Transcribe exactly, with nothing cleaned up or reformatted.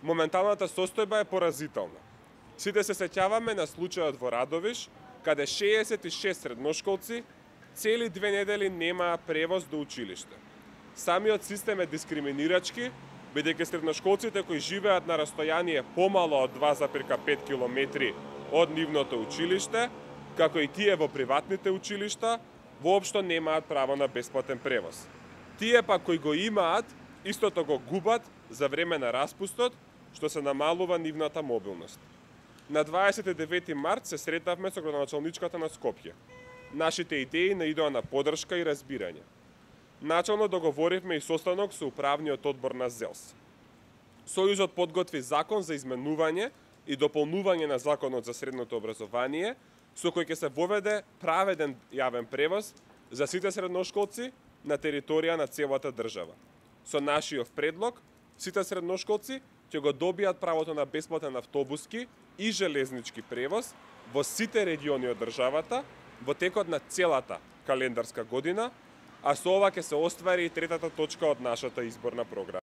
Моменталната состојба е поразителна. Сите се сеќаваме на случајот во Радовиш, каде шеесет и шест средношколци цели две недели немаа превоз до училиште. Самиот систем е дискриминирачки, бидејќи средношколците кои живеат на растојание помало од два запирка пет километри од нивното училиште, како и тие во приватните училишта, воопшто немаат право на бесплатен превоз. Тие пак кои го имаат, истото го губат за време на распустот, што се намалува нивната мобилност. На дваесет и девети март се сретавме со градоначалничката на Скопје. Нашите идеи наидоа на поддршка и разбирање. Начално договоривме и состанок со управниот одбор на ЗЕЛС. Сојузот подготви закон за изменување и дополнување на законот за средното образование, со кој ќе се воведе праведен јавен превоз за сите средношколци на територија на целата држава. Со нашиот предлог, сите средношколци ќе го добијат правото на бесплатен автобуски и железнички превоз во сите региони од државата во текот на целата календарска година, а со ова ќе се оствари и третата точка од нашата изборна програма.